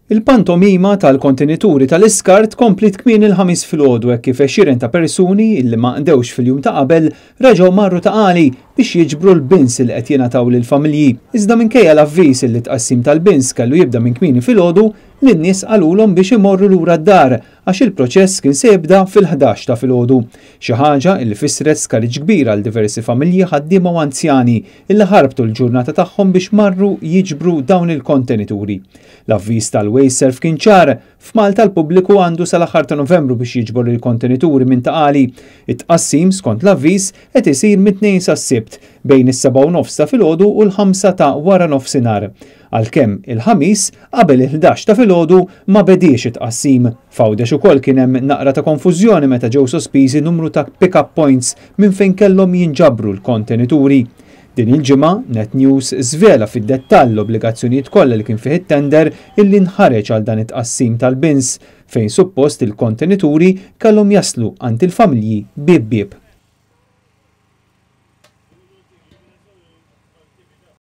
Il-pantomima tal-kontenituri tal-iskart kompliet kmieni l-Ħamis filgħodu hekk kif għexieren ta' persuni li ma qdewx fil-jum ta' qabel reġgħu marru Ta' Qali biex jiġbru l-bins li qed jingħataw lill-familji. Iżda minkejja l-avviż li t-tqassim tal-bins kellu jibda minn kmieni filgħodu, lin-nies qalulhom biex imorru lura d-dar għax il-proċess kien se jibda fil-11 ta' filgħodu. Xi ħaġa li fissret skariġġ kbir għal diversi familji, ħaddiema u anzjani illi ħarbtu l-ġurnata tagħhom biex marru jiġbru dawn il-kontenituri. L-avviż tal-WasteServ kien ċar, f'Malta l-pubbliku għandu sal-aħħar ta' Novembru biex jiġbor il-kontenituri minn Ta' Qali. It-tqassim, skont l-avviż, qed isir mit-Tnejn sas-Sibt, bejn is-7:30 ta' filgħodu u l-5 ta' waranofsinhar. Għalkemm il-Ħamis, qabel il-11 ta' filgħodu, ma bediex it-tqassim. F'Għawdex ukoll kien hemm naqra ta' konfużjoni meta ġew sospiżi numru ta' pick-up points minn fejn kellhom jinġabru l-kontenituri. Din il-ġimgħa, Net News żvela fid-dettall l-obbligazzjonijiet kollha li kien fih it-tender illi nħareġ għal dan it-tqassim tal-bins, fejn suppost il-kontenituri kellhom jaslu għand il-familji bieb bieb.